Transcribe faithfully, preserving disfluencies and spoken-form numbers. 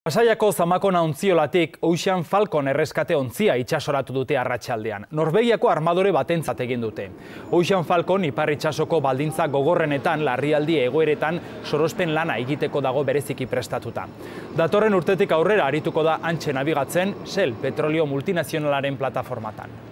Pasaiako Zamakona ontziolatik Ocean Falcon erreskate ontzia itsasoratu dute arratsaldean. Norvegiako armadore batentzat egin dute. Ocean Falcon ipar itsasoko baldintza gogorrenetan larrialdi egoeretan sorospen lana egiteko dago bereziki prestatuta. Datorren urtetik aurrera arituko da hantxe nabigatzen Shell petrolio multinazionalaren plataformatan.